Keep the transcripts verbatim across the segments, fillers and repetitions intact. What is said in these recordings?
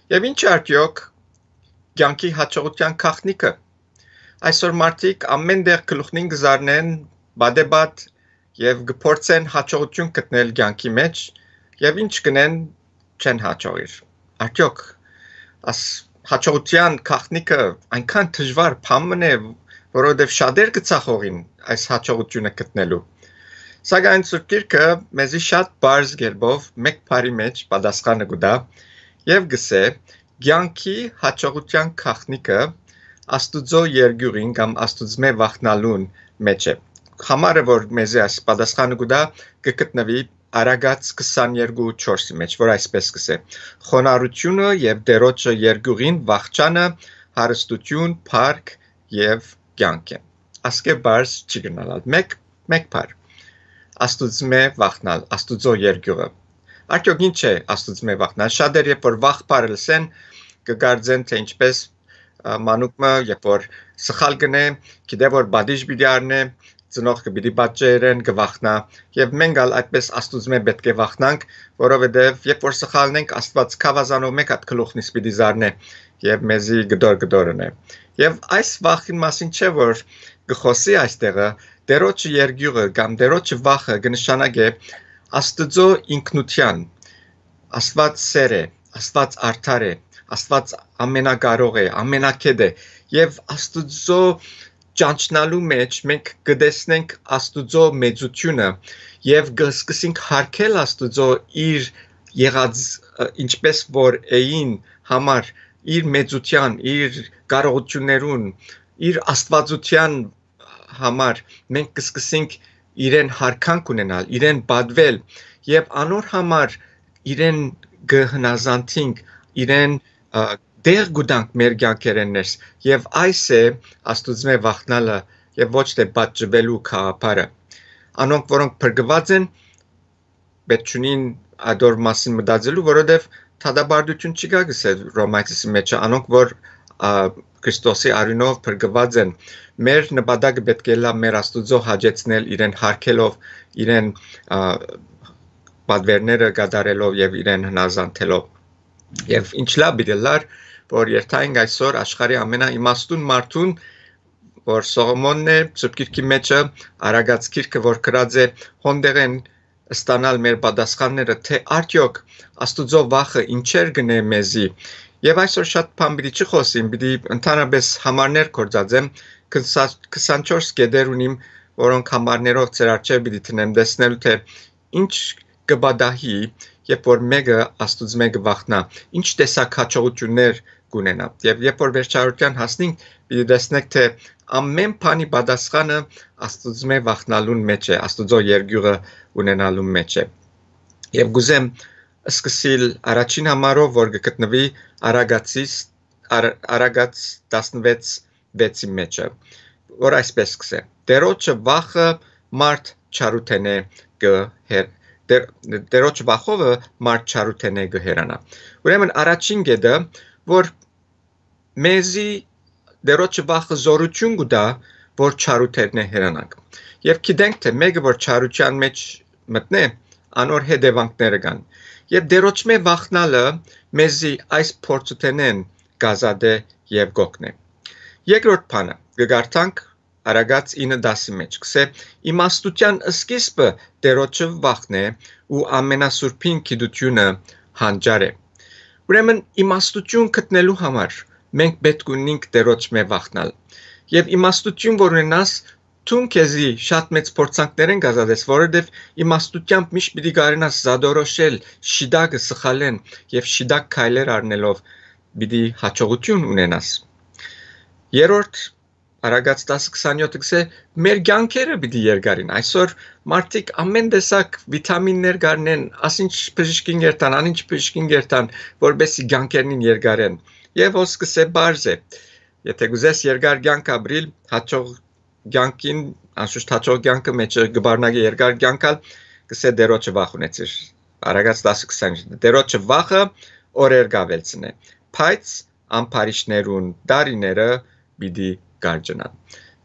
Եւ ի՞նչ է արդեօք կեանքի յաջողութեան գաղտնիքը։ Այսօր մարդիկ ամէն տեղ գլուխնին կը զարնեն, պատեպատ, եւ կը փորձեն յաջողութիւն գտնել կեանքի մէջ, եւ ի՞նչ կ'ընեն, չեն յաջողիր։ Արդեօք աս յաջողութեան գաղտնիքը այնքան դժուար բան մըն է, որովհետեւ շատեր կը ձախողին այս յաջողութիւնը գտնելու։ Սակայն Սուրբ Գիրքը մեզի շատ պարզ կերպով մէկ բառի մէջ պատասխանը կու տայ եւ կ'ըսէ. «Կեանքի յաջողութեան գաղտնիքը Աստուծոյ երկիւղին կամ Աստուծմէ վախնալուն մէջ է»։ Համարը, որ մեզի այս պատասխանը կու տայ, կը գտնուի Արագած քսաներկու չորսի մէջ, որ այսպէս կ'ըսէ. «Խոնարհութիւնը եւ Տէրոջը երկիւղին վախճանը, հարստութիւն, փառք եւ կեանք են»։ Ասկէ պարզ չի կրնալ ալ։ Մէկ, մէկ բառ։ Աստուծմէ վախնալ, Աստուծոյ երկիւղը։ Արդեօք ի՞նչ է Աստուծմէ վախնալ։ Շատեր, երբ որ վախ բառը լսեն, կը կարծեն, թէ ինչպէս, ա, մանուկ մը, երբ որ սխալ կ'ընէ, գիտէ, որ պատիժ պիտի առնէ, ծնողքը պիտի պատժեն, կը վախնայ, եւ մենք ալ այդպէս Աստուծմէ պէտք է վախնանք, որովհետեւ երբ որ սխալնենք, Աստուած գաւազանով մէկ հատ գլուխնիս պիտի զարնէ եւ մեզի կտոր-կտոր ընէ։ Եւ այս վախին մասին չէ՞ որ կը խօսի այստեղը, Տէրոջը երկիւղը կամ Տէրոջը վախը կը նշանակէ Աստուծոյ ինքնութեան, Աստուած սէր է, Աստուած արդար է, Աստուած ամենակարող է, ամենակետ է, եւ Աստուծոյ ճանչնալու մէջ մենք կը տեսնենք Աստուծոյ մեծութիւնը եւ կը սկսենք յարգել Աստուծոյ իր եղած, ը, ինչպէս որ էին համար, իր մեծութեան, իր կարողութիւններուն, իր աստուածութեան համար մենք կը սկսենք իրեն յարգանք ունենալ, իրեն պատվել եւ անոր համար իրեն կը հնազանդինք, իրեն, ա, տեղ կու տանք մեր կեանքերէն ներս, եւ այս է Աստուծմէ վախնալը եւ ոչ թէ պատժուելու գաղափարը։ Անոնք, որոնք փրկուած են, պէտք չունին ադոր մասին մտածելու, որովհետեւ դատապարտութիւն չի գա, կ'ըսէ Ռոմայցիզի մէջը, անոնք որ, ա, Քրիստոսի արիւնով փրկուած են, մեր նպատակը պէտք է ըլլայ մեր Աստուծոյ հաճեցնել իրեն յարգելով, իրեն, ա, պատվերները կատարելով եւ իրեն հնազանդելով։ Եւ ինչ լաւ պիտի ըլլար, որ երթայինք այսօր աշխարհի ամենաիմաստուն մարդուն, որ Սողոմոնն է, Սուրբ Գիրքի մէջը, Արագած գիրքը, որ գրած է, հոն տեղէն ստանալ մեր պատասխանները, թէ արդեօք Աստուծոյ վախը ինչեր կ'ընէ մեզի։ Եւ այսօր շատ բան պիտի չխօսիմ, պիտի ընդհանրապէս համարներ գործածեմ, քսա-, քսանչորս կետեր ունիմ, որոնք համարներով ձեր առջեւ պիտի դնեմ, տեսնելու թէ ինչ կը պատահի, երբ որ մէկը Աստուծմէ կը վախնայ, ինչ տեսակ յաջողութիւններ կ'ունենայ։ Եւ երբ որ վերջարարութեան հասնինք, պիտի տեսնենք թէ ամէն բանի պատասխանը Աստուծմէ վախնալուն մէջ է, Աստուծոյ երկիւղը ունենալուն մէջ է։ Եւ կ'ուզեմ սկսիլ առաջին համարով, որ կը գտնուի Արագածիս, Ար-, Արագած տասնվեց վեցի մէջը, որ այսպէս կ'ըսէ. «Տէրոջը վախը մարդ չարութենէ կը հեր-, Տեր-, Տէրոջը վախովը մարդ չարութենէ կը հեռանայ»։ Ուրեմն առաջին կետը, որ մեզի Տէրոջը վախը զօրութիւն կու տայ, որ չարութենէ հեռանանք։ Եւ գիտենք թէ մէկը որ չարութեան մէջ մտնէ, անոր հետեւանքները կան։ Եւ Տէրոջմէ վախնալը մեզի այս փորձութենէն կ'ազատէ եւ կ'օգնէ։ Երկրորդ բանը, կը կարդանք Արագած ինը տասի մէջ, կ'ըսէ. «Իմաստութեան սկիզբը Տէրոջը վախն է ու ամենասուրբին գիտութիւնը հանճար է»։ Ուրեմն իմաստութիւն գտնելու համար մենք պէտք ունինք Տէրոջմէ վախնալ։ Եւ իմաստութիւն որ ունենաս, դուն քեզի շատ մեծ փորձանքներէն կ'ազատես, որովհետեւ իմաստութեամբ միշտ պիտի կարենաս զատորոշել շիտակը սխալէն եւ շիտակ քայլեր առնելով պիտի յաջողութիւն ունենաս։ Երրորդ, Արագած տասը քսանյոթը կ'ըսէ, մեր կեանքերը պիտի երկարին։ Այսօր մարդիկ ամէն տեսակ վիտամիններ կ'առնեն, ասինչ բժիշկին կ'երթան, անինչ բժիշկին կ'երթան, որպէսզի կեանքերնին երկարեն։ Եվ հոս կ'ըսէ, պարզ է, եթէ կ'ուզես երկար կեանք ապրիլ, յաջող կեանքին, անշուշտ յաջող կեանքը մէջը կը բառնագէ երկար կեանք ալ, կ'ըսէ Տէրոջը վախ ունեցիր։ Արագած տասը քսանյոթ, Տէրոջը վախը օրեր կ'աւելցնէ, բայց ամբարիշներուն տարիները պիտի կարճնան։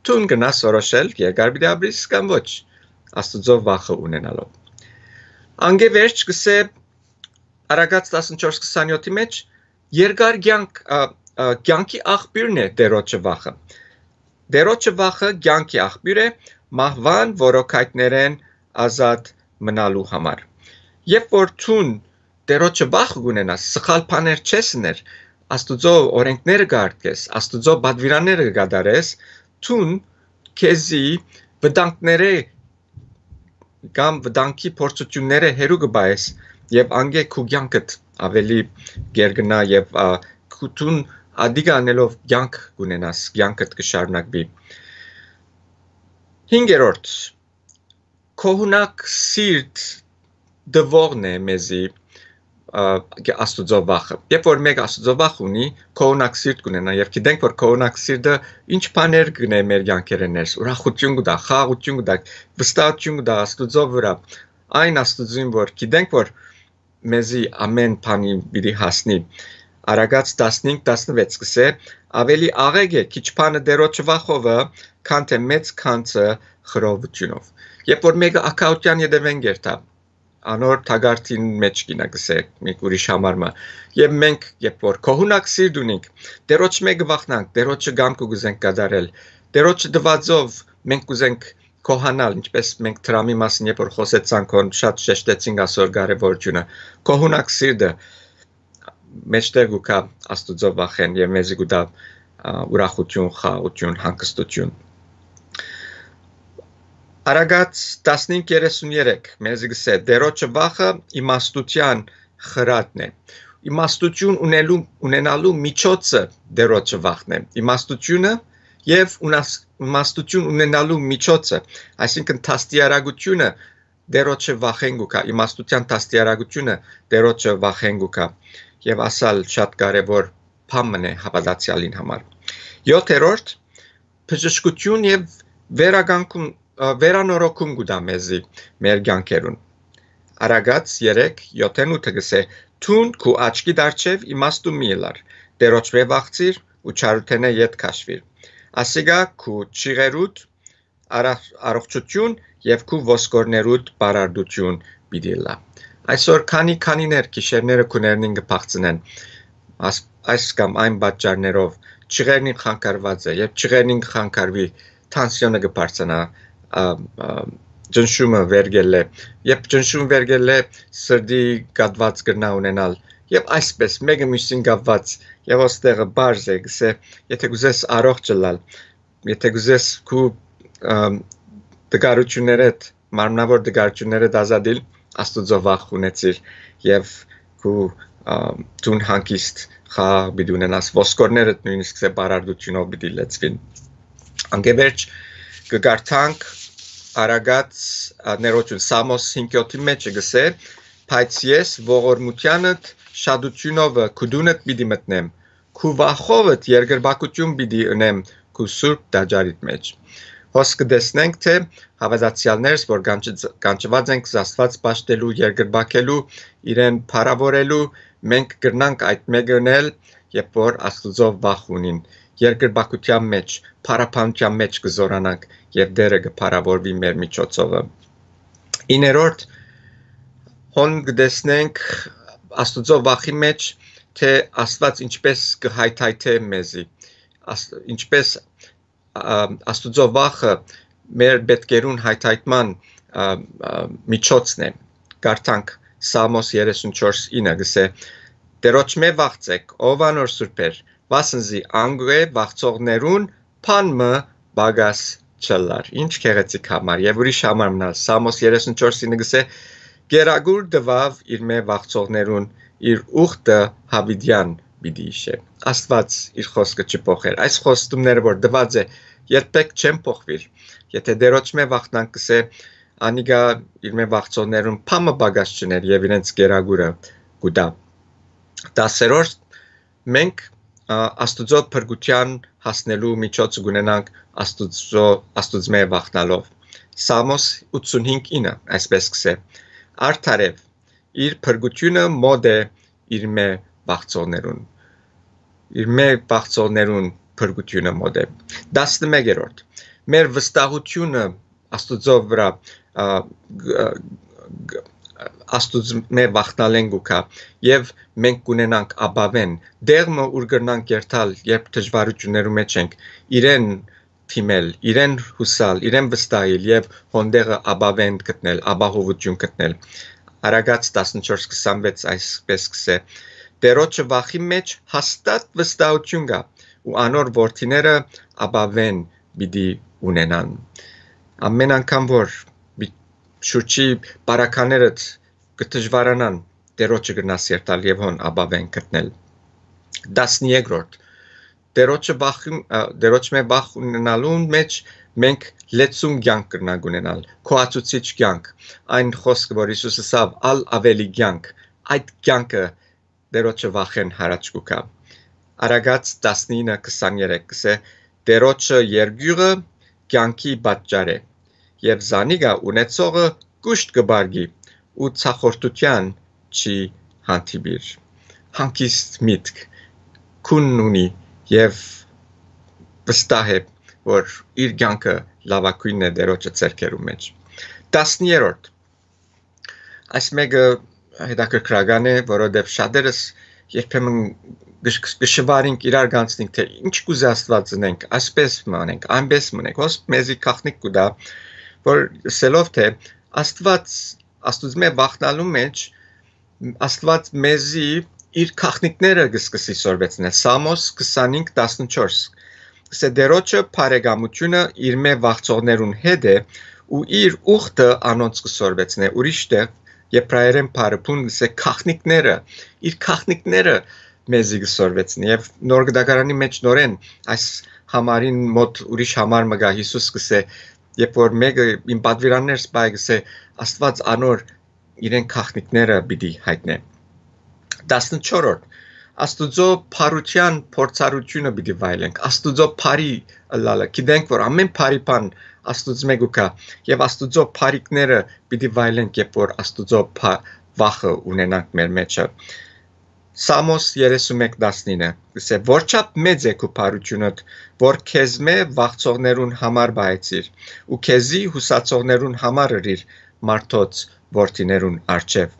Դուն կրնաս որոշել, երկար պիտի ապրիս կամ ոչ, Աստուծոյ վախը ունենալով։ Անկէ վերջ կ'ըսէ Արագած տասնչորս քսանյոթի մէջ, երկար կեանք, ա, ա, կեանքի աղբիւրն է Տերոջը վախը։ Տերոջը վախը կեանքի աղբիւր է, մահուան որոքայթներէն ազատ մնալու համար։ Երբ որ դուն Տերոջը վախ կունենաս, սխալ բաներ չես ըներ, Աստուծոյ օրենքները կ'արգես, Աստուծոյ պատուիրանները կ'կատարես, դուն քեզի վտանգները կամ վտանգի փորձութիւնները հեռու կը պահես եւ անկէ քու կեանքդ ավելի կ'երկնայ եւ, ա, քու-, դուն ատիկը անելով կեանք կ'ունենաս, կեանքդ կը շարունակուի։ Հինգերորդ, գոհունակ սիրտ տուողն է մեզի, ա, Աստուծոյ վախը։ Երբ որ մէկը Աստուծոյ վախ ունի, գոհունակ սիրտ կ'ունենայ եւ գիտենք որ գոհունակ սիրտը ինչ բաներ կ'ընէ մեր կեանքերէն ներս, ուրախութիւն կու տայ, խաղաղութիւն կու տայ, վստահութիւն կու տայ Աստուծոյ վրայ, այն Աստուծոյին որ գիտենք որ մեզի ամէն բանի պիտի հասնի։ Արագած տասնհինգ տասնուեց կ'ըսէ. «Աւելի աղէկ է քիչ բանը Տերոջը վախովը, քան թէ մեծ գանձը խռովութիւնով»։ Երբ որ մէկը ագահութեան ետեւէն կ'երթայ, անոր թակարդին մէջ կ'ինայ, կ'ըսէ մի ուրիշ համար մը։ Եւ մենք, երբ որ գոհունակ սիրտ ունինք, Տերոջմէ կը վախնանք, Տերոջը կամքը կ'ուզենք կատարել, Տերոջը տուածով մենք կ'ուզենք գոհանալ, ինչպէս մենք դրամի մասին երբ որ խօսեցանք, հոն շատ շեշտեցինք ասոր կարեւորութիւնը։ Գոհունակ սիրտը մէջտեղ կու գայ Աստուծոյ վախէն եւ մեզի կու տայ, ա, ուրախութիւն, խաղաղութիւն, հանգստութիւն։ Արագած տասնհինգ երեսուն երեք մեզի կ'ըսէ. «Տերոջը վախը իմաստութեան խրատն է»։ Իմաստութիւն ունելու, ունենալու միջոցը Տերոջը վախն է։ Իմաստութիւնը եւ ունաս-, իմաստութիւն ունենալու միջոցը, այսինքն դաստիարակութիւնը Տերոջը վախէն կու գայ, իմաստութեան դաստիարակութիւնը Տերոջը վախէն կու գայ։ Եւ ասալ շատ կարեւոր բան մըն է հաւատացեալին համար։ Յոթերորդ, բժշկութիւն եւ վերականգում, ը, վերանորոգում կու տայ մեզի մեր կեանքերուն։ Արագած երեք յոթեն ութը կ'ըսէ. «Դուն քու աչքի դարջեւ իմաստուն մի ըլլար, Տերոջմէ վախցիր ու չարութենէ ետ քաշուիր։ Ասիկա քու չիղերուդ առ-, առողջութիւն եւ քու ոսկորներուդ պարարտութիւն պիտի ըլլայ»։ Այսօր քանի քանիներ գիշերները քու ներնին կը փախցնեն, աս-, այս կամ այն պատճառներով, չիղերնին խանգարուած է, երբ չիղերնին կը խանգարուի, թանսիոնը կը բարձրանայ, ա, ա, ճնշումը վեր կ'ելլէ, երբ ճնշում վեր կ'ելլէ, սրտի կաթուած կրնայ ունենալ, եւ այսպէս մէկը միւսին կապուած, եւ ոստեղը պարզ է, կ'ըսէ, եթէ կ'ուզես առողջ ըլլալ, եթէ կ'ուզես քու, ըմ, տկարութիւններէդ, մարմնաւոր տկարութիւններէդ ազատիլ, Աստուծոյ վախ ունեցիր եւ քու, ըմ, դուն հանգիստ խաղաղ պիտի ունենաս, ոսկորներդ նոյնիսկ սեպարարտութիւնով պիտի լեցուին։ Անկէ վերջ կը կարդանք Արագած, ա, ներողություն, Սամոս հինգ յոթի մէջ կ'ըսէ. «Բայց ես ողորմութեանդ շատութիւնովը քու տունդ պիտի մտնեմ, քու վախովդ երկրպագութիւն պիտի ընեմ քու սուրբ տաճարիդ մէջ»։ Հոս կը տեսնենք, թէ հաւատացեալներս, որ կանչ-, կանչուած ենք Աստուած պաշտելու, երկրպագելու, իրեն փառաւորելու, մենք կրնանք այդ մէկը ընել, երբ որ Աստուծոյ վախ ունին, երկրպագութեան մէջ, փառաբանութեան մէջ կը զօրանանք եւ Տէրը կը փառաւորուի մեր միջոցովը։ Իններորդ, հոն կը տեսնենք Աստուծոյ վախի մէջ, թէ Աստուած ինչպէս կը հայթայթէ մեզի, աս-, ինչպէս, ա, Աստուծոյ վախը մեր պէտքերուն հայթայթման, ա, ա, միջոցն է։ Կարդանք Սամոս երեսուն չորս ինը, կ'ըսէ. «Տերոջմէ վախցէք, ով անոր սուրբեր, վասն զի անկէ վախցողներուն բան մը պակաս չըլլար»։ Ինչ գեղեցիկ համար, եւ ուրիշ համար մնալ, Սամոս երեսուն չորս ինը կ'ըսէ. «Կերակուր տուաւ իրմէ վախցողներուն, իր ուխտը յաւիտեան պիտի յիշէ»։ Աստուած իր խօսքը չի փոխեր։ Այս խոստումները որ տուած է, երբեք չեն փոխուիր։ Եթէ Տերոջմէ վախնանք, կ'ըսէ, անիկա իրմէ վախցողներուն բան մը պակաս չըներ եւ իրենց կերակուրը կու տայ։ Տասերորդ, մենք, ա, Աստուծոյ փրկութեան հասնելու միջոցը կունենանք Աստուծոյ, Աստուծմէ վախնալով։ Սամոս ութսունհինգ ինը այսպէս կ'ըսէ. «Արդարեւ, իր փրկութիւնը մօտ է իրմէ վախցողներուն»։ Իրմէ վախցողներուն փրկութիւնը մօտ է։ Տասնմեկերորդ, մեր վստահութիւնը Աստուծոյ վրայ, ա, գ-, գ-, Աստուծմէ վախնալէն կու գայ եւ մենք կունենանք ապաւէն, դեղ մը ուր կրնանք երթալ, երբ դժուարութիւններու մէջ ենք, իրեն դիմել, իրեն յուսալ, իրեն վստահիլ եւ հոն դեղը ապաւէն գտնել, ապահովութիւն գտնել։ Արագած տասնչորս քսանվեց այսպես կսէ. «Տերոջը վախի մէջ հաստատ վստահութիւն կայ ու անոր որդիները ապաւէն պիտի ունենան»։ Ամեն անգամ որ մի շուրջի բարականերդ կը դժուարանան, Տերոջը կրնաս երթալ եւ հոն ապաւէն գտնել։ Տասներկրորդ. Տերոջը վախ, ը, Տերոջմէ վախ ունենալուն մէջ մենք լեցուն կեանք կրնանք ունենալ, գոհացուցիչ կեանք։ Այն խօսքը, որ Յիսուս ըսաւ, «Ալ աւելի կեանք», այդ կեանքը Տերոջը վախէն յառաջ կու գայ։ Արագած տասնինը քսաներեք կսէ. «Տերոջը երկիւղը կեանքի պատճառ է, եւ զանիկա ունեցողը կուշտ կը պարգի ու ցախորտութեան չի հանդիպիր»։ Հանգիստ միտք քուն ունի եւ վստահ է, որ իր կեանքը լաւագոյնն է Տերոջը ձեռքերու մէջ։ Տասներորդ. այս մէկը հետաքրքրական է, որովհետեւ շատերս երբեմն գշ-, գշվարինք, իրար կանցնենք, թէ ինչ կուզէ Աստուած ընենք, այսպես մը անենք, այնպես մը ընենք։ Հոս մեզի գաղտնիք կու տայ, որ ըսելով թէ Աստուած, Աստուծմէ վախնալու մէջ, Աստուած մեզի իր գաղտնիքները կը սկսի սորվեցնել։ Սամոս քսանհինգ տասնչորս. «Կսէ Տերոջը բարեկամութիւնը իրմէ վախցողներուն հետ է ու իր ուխտը անոնց կը սորվեցնէ»։ Ուրիշ տեղ, Եբրայերէն բարեբուն կսէ. «Գաղտնիքները, իր գաղտնիքները մեզի կը սորվեցնի»։ Եւ Նոր Գտակարանի մէջ նորէն այս համարին մօտ ուրիշ համար մը կայ, Յիսուս կսէ, երբ որ մէկը իմ պատուիրաններ սպայ կսէ, Աստուած անոր իրեն գաղտնիքները պիտի յայտնէ։ Տասնչորրորդ. Աստուծոյ բարութեան փորձառութիւնը պիտի վայելենք, Աստուծոյ բարի ըլլալը։ Գիտենք, որ ամեն բարի բան Աստուծմէ կու գայ, եւ Աստուծոյ բարիքները պիտի վայելենք, երբ որ Աստուծոյ փա-, վախը ունենանք մեր մեջը։ Սամոս երեսունմէկ տասնինը կսէ. «Որչափ մեծ է քու բարութիւնդ, որ քեզմէ վախցողներուն համար պահեցիր ու քեզի յուսացողներուն համար ըրիր մարդոց որդիներուն առջեւ»։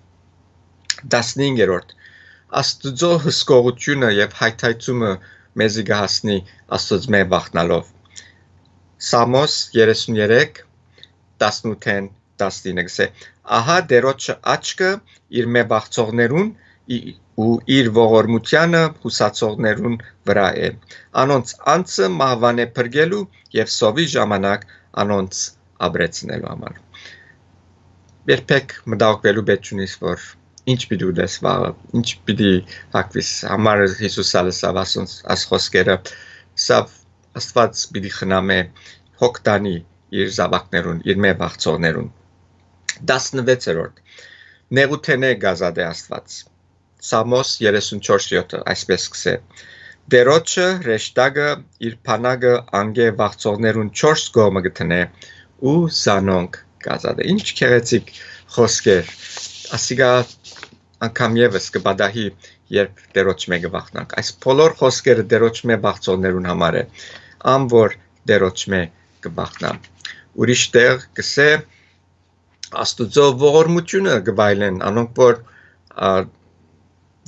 Տասնհինգերորդ. Աստուծոյ հսկողութիւնը եւ հայթայթումը մեզի կը հասնի Աստուծմէ վախնալով։ Սամոս երեսուն երեք, տասնութ տասնինը կսէ. «Ահա Տերոջը աչքը իրմէ վախցողներուն ի-, ու իր ողորմութեանը յուսացողներուն վրայ է, անոնց անձը մահուանէ փրկելու եւ սովի ժամանակ անոնց ապրեցնելու համար»։ Երբեք մտահոգուելու պէս չունիս, որ ինչ պիտի ուտես վաղը, ինչ պիտի հագուիս։ Համար Յիսուս ալ ըսաւ ասոնց, աս խօսքերը, սա Աստուած պիտի խնամէ, հոգ տանի իր զաւակներուն, իրմէ վախցողներուն։ Տասնվեցերորդ. «Նեղութենէ կ'ազատէ Աստուած»։ Սամոս երեսուն չորս յոթը այսպես կսէ. «Տերոջը հրեշտակը իր բանակը անկէ վախցողներուն չորս կողմը կը դնէ ու զանոնք կ'ազատէ»։ Ինչ գեղեցիկ խօսքեր։ Ասիկա անգամ եւս կը պատահի, երբ Տերոջմէ կը վախնանք։ Այս բոլոր խօսքերը Տերոջմէ վախցողներուն համար է, ան որ Տերոջմէ կը վախնան։ Ուրիշ տեղ կսէ. «Աստուծոյ ողորմութիւնը կը վայելեն անոնք, որ, ա,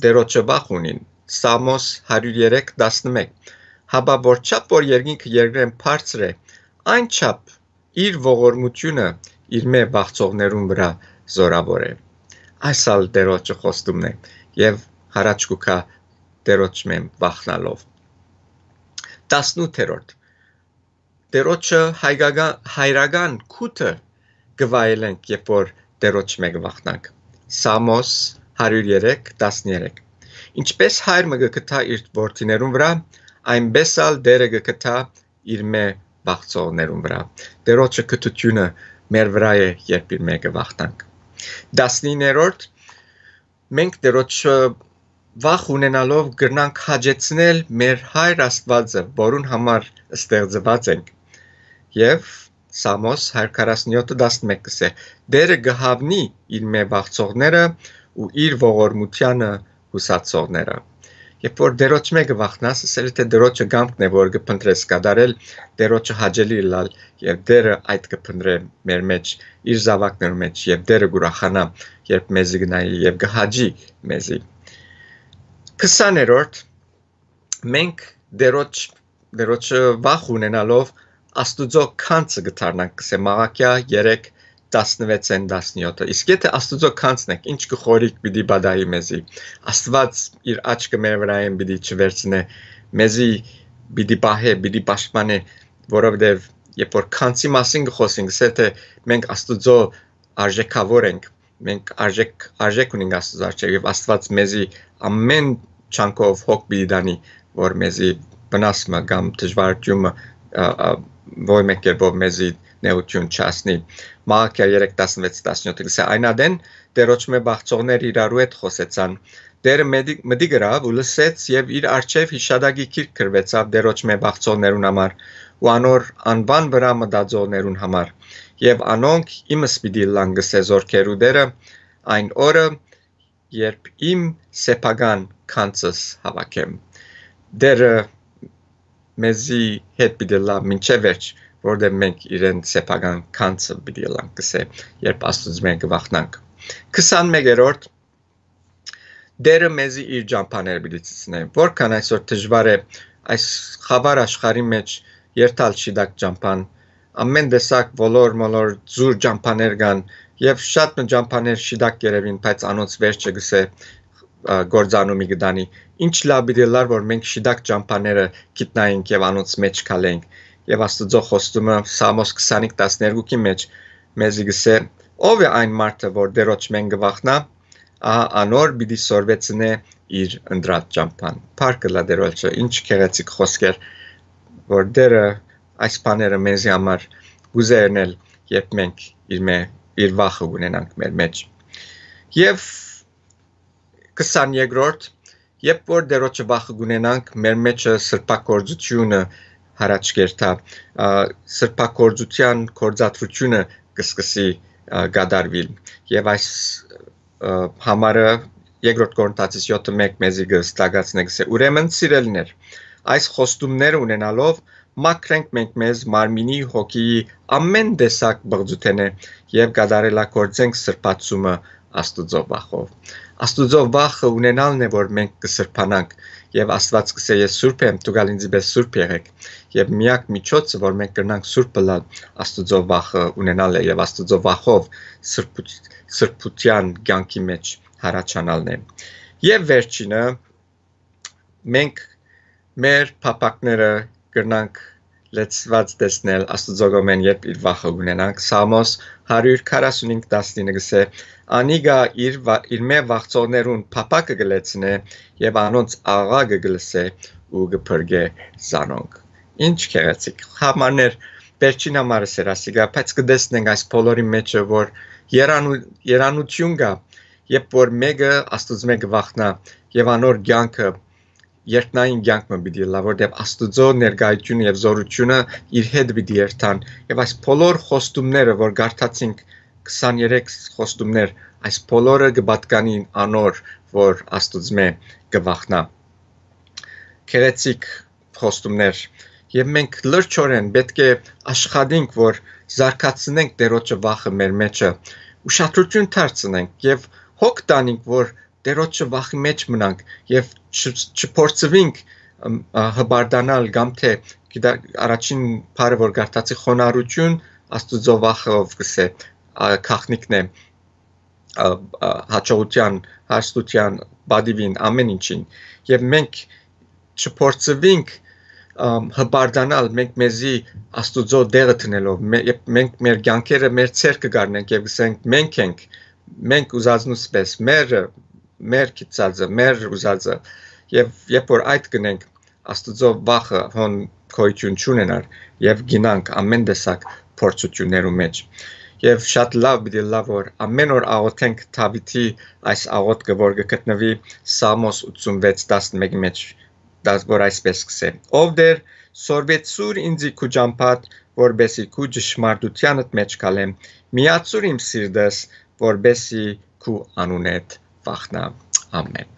Տերոջը վախ ունին»։ Սամոս հարիւր երեք տասնմէկ. «Հապա որչափ որ երկինքը երկրէն բարձր է, այն չափ իր ողորմութիւնը իրմէ վախցողներուն վրայ զօրաւոր է»։ Այս ալ Տերոջը խոստումն է եւ յառաջ կու գայ Տերոջմէ վախնալով։ Տասնութերորդ. «Տերոջը հայկական, հայրական քութը կը վայելենք, երբ որ Տերոջմէ կը վախնանք»։ Սամոս հարիւր երեք տասներեք. «Ինչպես հայր մը կը գթայ իր որդիներուն վրայ, այնպես ալ Տէրը կը գթայ իրմէ վախցողներուն վրայ»։ Տերոջը կթութիւնը մեր վրայ է, երբ իրմէ կը վախնանք։ Տասնիններորդ. «Մենք Տերոջը վախ ունենալով կրնանք հաճեցնել մեր Հայր Աստուածը, որուն համար ստեղծուած ենք»։ Եւ Սամոս հարիւր քառասունյոթը տասնմէկ կսէ. «Տէրը կը հաւնի իրմէ վախցողները ու իր ողորմութեանը յուսացողները»։ երբ որ Տերոջ մէկը վախնաս, ըսել է թէ Տերոջը կամքն է որ կը փնտրես կատարել, Տերոջը հաճելի ըլլալ, եւ Տերը այդ կը փնտրէ մեր մեջ, իր զաւակներու մեջ, եւ Տերը կ'ուրախանայ երբ մեզի գնայի եւ կը հաճի մեզի։ Քսաներորդ, մենք Տերոջ Տերոջը վախ ունենալով, Աստուծոյ գանձը կը դառնանք, կսե Մաղաքիա երեք, տասնվեցէն տասնեօթը։ Իսկ եթէ Աստուծոյ գանձն ենք, ինչ կը խորիկ պիտի բադայի մեզի։ Աստուած իր աչքը մեր վրայէն պիտի չվերցնէ, մեզի պիտի պահէ, պիտի պաշտպանէ, որովհետեւ երբ որ գանձի մասին կը խօսենք, կսե թէ մենք Աստուծոյ արժեքավոր ենք, մենք արժեք, արժեք ունենք Աստուծոյ առջեւ եւ Աստուած մեզի ամեն չանքով հոգ պիտի տանի, որ մեզի վնաս մը կամ դժվարութիւն մը, ա, ա, որ մէկ կերպով մեզի նեղութիւն չհասնի։ Մաղաքիա երեք, տասնվեց, տասնեօթը կսե. Այն ատեն Տերոջ մէ բաղցողներ իրարու հետ խօսեցան։ Տերը մտի-, մտիկ ըրաւ ու լսեց եւ իր առջեւ յիշատակի գիրք գրուեցաւ Տերոջ մէ բաղցողներուն համար ու անոր անուան վրայ մտածողներուն համար։ Եւ անոնք իմս պիտի ըլլան, կսե զօրքերու Տերը, այն օրը, երբ իմ սեփական գանձս հաւաքեմ։ Տերը մեզի հետ պիտի ըլլայ մինչեւ վերջ, որտեղ մենք իրեն սեփական գանձը պիտի ըլլանք, կսե, երբ Աստուծմէ կը վախնանք։ Քսանմեկերորդ, Տերը մեզի իր ճամբաները պիտի ցցնէ։ Որքան այսօր դժուար է այս խավար աշխարհի մեջ երթալ շիտակ ճամբան, ամեն տեսակ ոլոր-մոլոր զուր ճամբաներ կան եւ շատ մը ճամբաներ շիտակ կ'երեւին, բայց անոնց վերջը կսե, ա, կործանումի կտանի։ Ինչ լաւ պիտի ըլլար, որ մենք շիտակ ճամբաները գիտնայինք եւ անոնց մեջ քալենք։ Եւ Աստուծոյ խոստումը Սաղմոս քսանհինգ, տասներկուքի մեջ մեզի կսե. «Ո՞վ է այն մարդը, որ Տերոջ մէն կը վախնայ, ահա անոր պիտի սորվեցնէ իր ընտրած ճամբան»։ Փառք ըլլայ Տերոջը, ինչ գեղեցիկ խօսքեր, որ Տերը այս բաները մեզի համար կ'ուզէ ընել, երբ մենք իր մէ-, իր վախը ունենանք մեր մեջ։ Եւ քսաներկրորդ, երբ որ Տերոջը վախը կ'ունենանք, մեր մեջը սրբագործությունը յառաջ կերթայ, ա, սրբագործութեան գործադրությունը կը սկսի, ա, կատարուիլ։ Եւ այս, ա, համարը Երկրորդ Կորինթացիս յոթը մէկ մեզի կը ստակացնէ, կսե. «Ուրեմն, սիրելիներ, այս խոստումները ունենալով, մաքրենք մենք մեզ մարմինի, հոգիի ամեն տեսակ պղծութենէ եւ կատարելագործենք սրբացումը Աստուծոյ վախով»։ Աստուծոյ վախը ունենալն է, որ մենք կը սրբանանք, եւ Աստուած կսե. «Ես սուրբ եմ, դուք ալ ինծի պէս սուրբ եղէք»։ Եւ միակ միջոցը, որ մենք կրնանք սուրբ ըլլալ, Աստուծոյ վախը ունենալ է եւ Աստուծոյ վախով սրբութ-, սրբութեան կեանքի մեջ յառաջանալն է։ Եւ վերջինը, մենք մեր փափաքները կրնանք լեցուած տեսնել Աստուծոյ կողմէն, երբ իր վախը կունենանք։ Սաղմոս հարիւր քառասունհինգ, տասնինը կսե. «Անիկա իր վա-, իր մէ վախցողներուն փափաքը կը լեցնէ եւ անոնց աղաղակը կը լսէ ու կը փրկէ զանոնք»։ Ինչ գեղեցիկ համարներ, վերջին համարս էր ասիկա, բայց կը տեսնենք այս բոլորի մեջը, որ երանու-, երանութիւն կայ, երբ որ մէկը Աստուծմէ կը վախնայ եւ անոր կեանքը երկնային կեանք մը պիտի ըլլայ, որտեղ Աստուծոյ ներկայությունը եւ զօրութիւնը իր հետ պիտի երթան, եւ այս բոլոր խոստումները, որ կարդացինք, քսաներեք խոստումներ, այս բոլորը կը պատկանին անոր, որ Աստուծմէ կը վախնայ։ Գեղեցիկ խոստումներ, եւ մենք լրջորեն պէտք է աշխատենք, որ զարգացնենք Տերոջը վախը մեր մեջը, ուշադրութիւն դարձնենք եւ հոգ տանենք, որ Տերոջը վախի մեջ մնանք եւ չ-, չփորձուինք, ըմ, ա, հպարտանալ կամ թէ, գիտա-, առաջին բառը, որ կարդացի, խոնարհութիւն, Աստուծոյ վախը, ով կսե, ա, գաղտնիքն է, ա, ա, հաջողութեան, հարստութեան, պատիւին, ամեն ինչին։ Եւ մենք չփորձուինք, ըմ, հպարտանալ, մենք մեզի Աստուծոյ տեղը դնելով, մե-, երբ մենք մեր կեանքերը մեր ձեռքը կառնենք եւ կսենք. «Մենք ենք, մենք ուզածնուց պէս, մեր, մեր գիծածը, մեր ուզածը»։ Եւ երբ որ այդ կնենք, Աստուծոյ վախը հոն գոյութիւն չունենար եւ գինանք ամեն տեսակ փորձութիւններու մեջ։ Եւ շատ լաւ պիտի ըլլայ, որ ամեն օր աղօթենք Դաւիթի այս աղօթքը, որ կը գտնուի Սաղմոս ութսունվեց, տասնմէկի մեջ, դաս-, որ այսպես կսե. «Ով Տեր, սորվեցուր ինձի քու ճամբադ, որպեսզի քու ճշմարտութեանդ մեջ քալեմ, միացուր իմ սիրտս, որպեսզի քու անունդ վախնայ»։ Ամեն։